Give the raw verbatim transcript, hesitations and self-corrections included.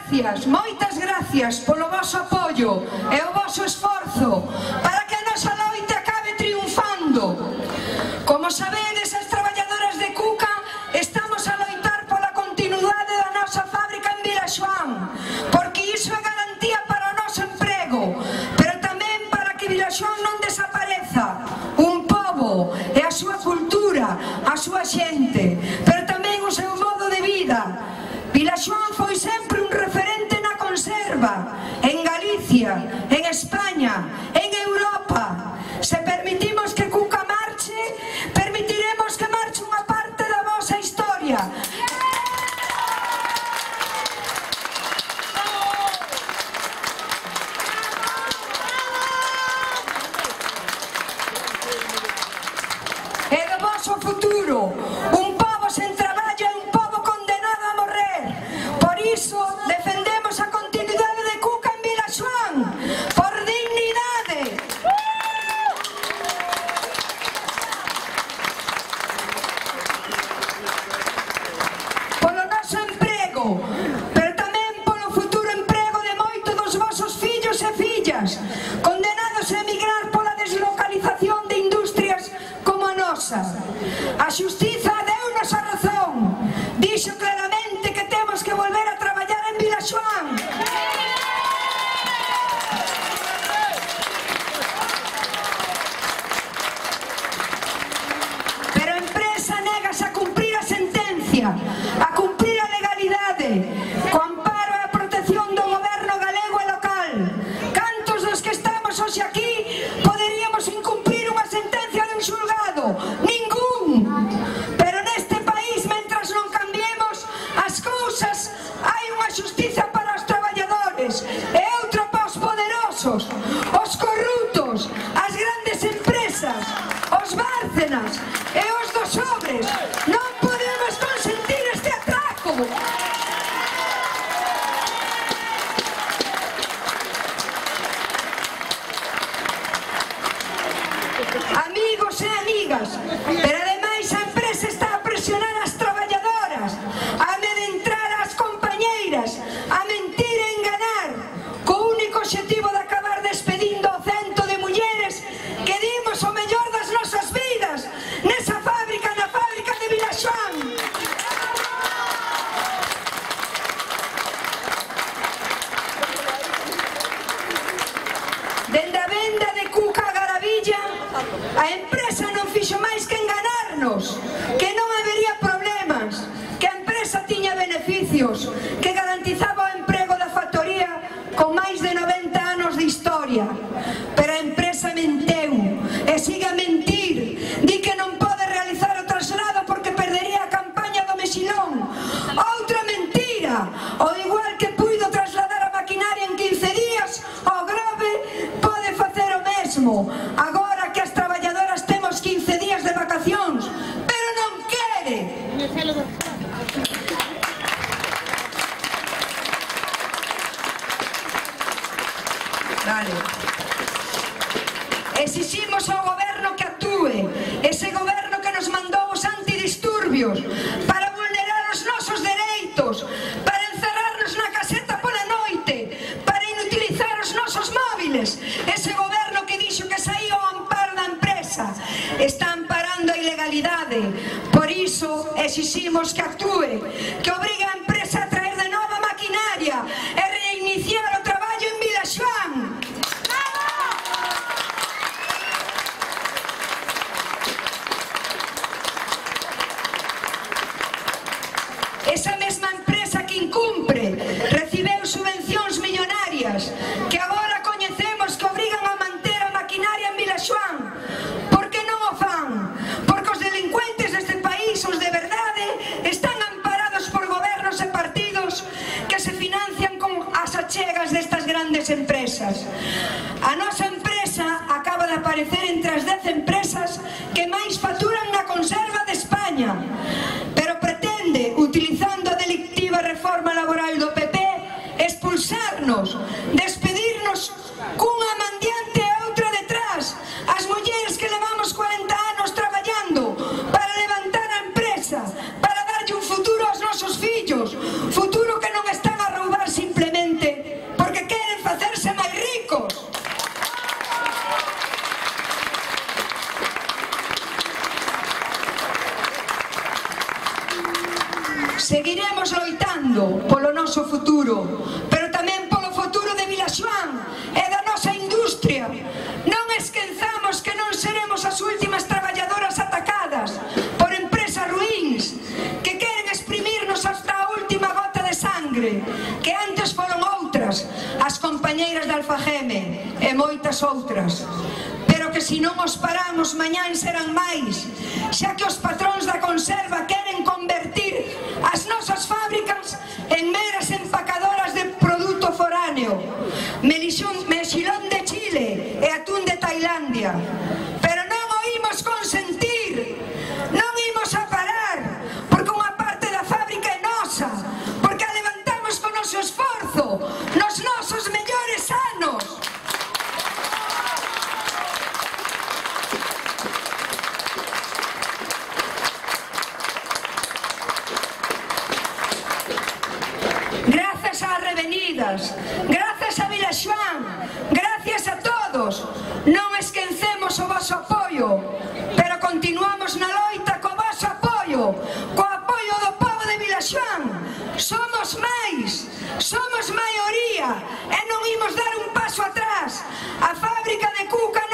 gracias, moitas gracias polo voso apoio e o voso esforzo para que a nosa loita acabe triunfando. Como sabedes, as traballadoras de Cuca estamos a loitar pola continuidade da nosa fábrica en Vilaxoán, porque iso é garantía para o noso emprego, pero tamén para que Vilaxoán non desapareza, un pobo e a súa cultura, a súa xente, pero tamén o seu modo de vida. Vilaxoán foi sempre un referente na conserva, en Galicia, en España, en Europa. Se permitimos que Cuca marche, permitiremos que marche unha parte da vosa historia. E do voso futuro. Un pobo sen traballo é un pobo condenado a morrer. Por iso defendemos a continuidade de Cuca en Vilaxoán, por dignidade. Polo noso emprego, pero tamén polo futuro emprego de moitos dos vosos fillos e fillas, condenados a emigrar pola deslocalización de industrias como a nosa. A xustiza deu-nos a razón, dixo claramente que temos que volver a traballar en Vilaxoán. Pero a empresa negase a cumprir a sentencia, a cumprir a legalidade, co amparo e a protección do goberno galego e local. Cantos dos que estamos hoxe aquí poderíamos incumprir unha sentencia dun xulgado? Ningún. Pero neste país, mentras non cambiemos as cousas, hai unha xustiza para os traballadores e outra para os poderosos, os corruptos, as grandes empresas, os bárcenas e os dos sobres. Non podemos consentir este atraco. Amigos e amigas, pero ademais a empresa está a presionar as traballadoras, a amedrentar as compañeiras, a mentir e enganar, co único obxectivo de acabar despedindo o cento de mulleres que dimos o mellor das nosas vidas nesa fábrica, na fábrica de Vilaxoán. Dende a venda de Cuca a Garavilla, a empresa non fixo máis que enganarnos, que non habería problemas, que a empresa tiña beneficios, que garantizaba o emprego da factoría con máis de noventa anos de historia. Pero a empresa menteu e sigue a mentir. Di que non pode realizar o traslado porque perdería a campaña do Mexilón. Outra mentira. O igual que puido trasladar a maquinaria en quince días, o Grove pode facer o mesmo. Agora que as traballadoras temos quince días de vacacións, pero non quere. Vale. Exiximos ao goberno que actúe, ese goberno que nos mandou os antidisturbios para vulnerar os nosos dereitos, para encerrarnos na caseta pola noite, para inutilizar os nosos móviles. Ese goberno que dixo que saía ao amparo da empresa está amparando a ilegalidade. Por iso exiximos que actúe, que obrigue a empresa a traer de nova maquinaria e reiniciar o traballo en Vilaxoán. Esa mesma empresa que incumpre recibeu subvencións millonarias que agora coñecemos que obrigan a manter a maquinaria en Vilaxoán. Por que non o fan? Porque os delincuentes deste país, os de verdade, están amparados por gobernos e partidos que se financian con as achegas destas grandes empresas. A nosa empresa acaba de aparecer entre as dez empresas que máis facturan na conserva de España, pero pretende, utilizando a delictiva reforma laboral do P P, expulsarnos, despedirnos cunha mandiante e outra detrás, as mulleres que levamos cuarenta anos traballando para levantar a empresa, para darlle un futuro aos nosos fillos, futuro que non están a roubar simplemente. loitando polo noso futuro, pero tamén polo futuro de Vilaxoán e da nosa industria. Non esquezamos que non seremos as últimas traballadoras atacadas por empresas ruíns que queren exprimirnos hasta a última gota de sangre, que antes foron outras, as compañeiras de Alfageme e moitas outras. Pero que se non os paramos, mañán serán máis, xa que os patróns da conserva queren convertir as nosas fábricas en meras empacadoras de produto foráneo, mexilón de Chile e atún de Tailandia. Pero non o imos consentir, non imos a parar, porque unha parte da fábrica é nosa, porque a levantamos con noso esforzo nos nosos mellores anos. Grazas ás revenidas, grazas a Vilaxoán, gracias a todos. Non esquecemos o voso apoio, pero continuamos na loita co voso apoio, co apoio do povo de Vilaxoán. Somos máis, somos maioría e non imos dar un paso atrás. A fábrica de Cuca